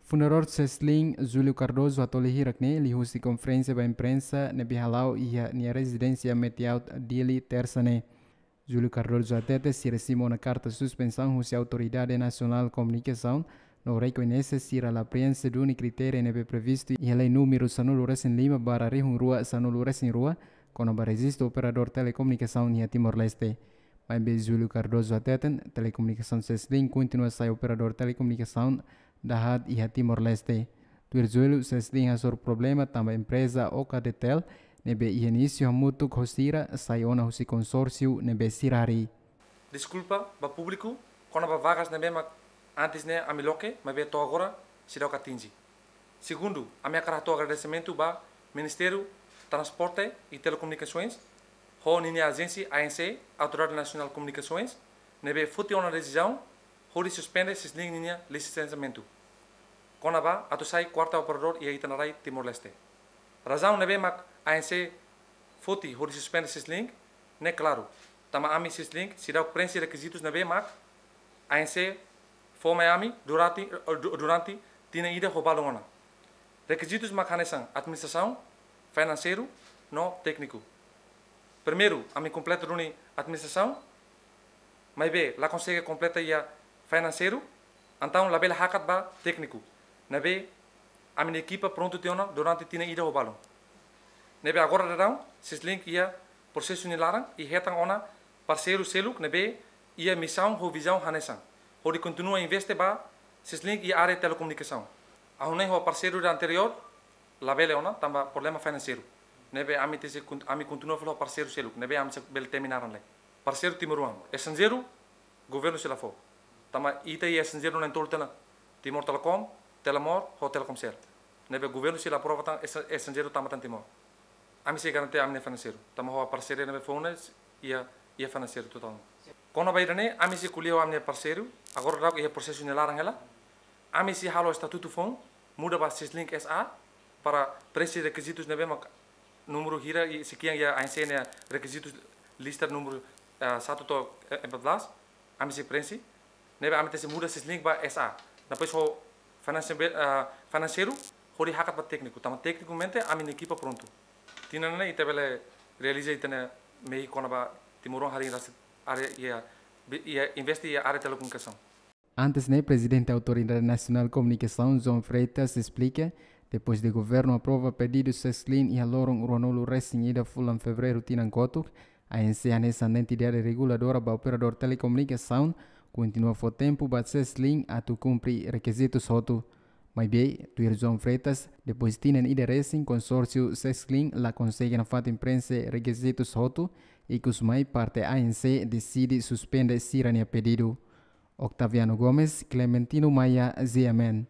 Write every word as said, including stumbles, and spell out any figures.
Fundadór Seslink, Júlio Cardoso, hato'o hirak-ne'e liuhusi konferénsia ba imprensa ne'ebé hala'o iha nia rezidénsia Metiaut, Dili, Tersa ne'e. Júlio Cardoso hatete sira simu ona karta suspensaun husi Autoridade Nasionál Komunikasaun, no rekoñese sira la prienxe duni kritériu ne'ebé previstu iha lei númeru sanulu-resin-lima barra rihun rua sanulu-resin-rua, kona-ba rejistu operadór telekomunikasaun iha Timor-Leste. Maibé Júlio Cardoso hateten, telekomunikasaun Seslink kontinua sai operadór telekomunikasaun dahaat iha Timor-Leste. Tuir Júlio, Seslink hasoru problema tanba empreza Ocadetel, ne'ebé iha inísiu hamutuk ho sira, sai ona husi konsórsiu ne'ebé sira harii. Deskulpa ba públiku kona-ba vagas ne'ebé mak antes ne'e ami loke, maibé to'o agora seidauk atinje. Segundu, ami hakarak hato'o agradesimentu ba Ministériu Transporte e Telekomunikasoens, ho ninia ajénsia A N C, Autoridade Nasionál Komunikasoens, ne'ebé foti ona desizaun hodi suspende Seslink ninia lisensiamentu, kona-ba atu sai kuarta operadór iha ita-nia rai Timor-Leste. Razaun ne'ebé mak A N C foti hodi suspende Seslink ne'e klaru, tanba ami Seslink seidauk prienxe rekizitus ne'ebé mak A N C fó mai ami durante, du-, durante tinan ida ho balun ona. Rekizitus mak hanesan administrasaun, finanseiru no tékniku. Primeiru, ami kompleta duni administrasaun, maibé la konsege kompleta iha finanseiru, entaun labele hakat ba tékniku, ne'ebé ami-nia ekipa prontu tiha ona durante tinan ida ho balun. Ne'ebé agora daudaun, Seslink iha prosesu nia laran i hetan ona parseiru seluk ne'ebé iha misaun ho vizaun hanesan, hodi kontinua investe ba Seslink iha área telekomunikasaun. Ha'u hanoin ho parseiru ida anteriór, labele ona, tanba problema finanseiru. Ne'ebé ami tenke kon-, ami kontinua fila ho parseiru seluk, ne'ebé ami sei bele temi naran lai. Parseiru timoroan, estranjeiru, governu sei la fó. Tanba ita iha estranjeiru na'in-tolu tiha ona, Timor Telecom, Telemor, ho Telkomcel. Ne'ebé governu sei la aprova tan estra-, estranjeiru tama tan Timor. Ami sei garantia ami-nia finanseiru. Tanba ho parseiru ne'ebé fó ona iha, iha finanseiru totál. Kona-ba ida-ne'e, ami sei ko'alia ho ami-nia parseiru, agora daudauk iha prosesu nia laran hela. Ami sei halo estatutu foun, muda ba Seslink S A, para prienxe rekizitus ne'ebé mak númeru hira i sei ki'an iha A N C nia rekizitus lista númeru, eh, satu to'o, eh, empat belas, ami sei prienxe, ne'ebé ami tenke muda Seslink ba S A. Depois ho finanse-, eh, finanseiru, hodi hakat ba tékniku, tanba teknikamente ami-nia ekipa prontu. Tinan ne'e ita bele realiza ita-nia mehi kona-ba timoroan harii rasik área iha, iha investe iha área telekomunikasaun. Antes ne'e, Prezidente Autoridade Nasionál Komunikasaun, João Freitas, esplika, depois de governu aprova pedidu Seslink iha loron ruanulu-resin-ida fulan Fevereiru tinan kotuk, A N C hanesan entidade reguladora ba operadór telekomunikasaun, kontinua fó tempu ba Seslink atu kumpre rekizitus hotu. Maibé, tuir João Freitas, depois tinan ida resin konsórsiu Seslink la konsege nafatin prienxe rekizitus hotu, ikus mai parte A N C deside suspende sira-nia pedidu. Octaviano Gomes, Clementino Maia, G M N.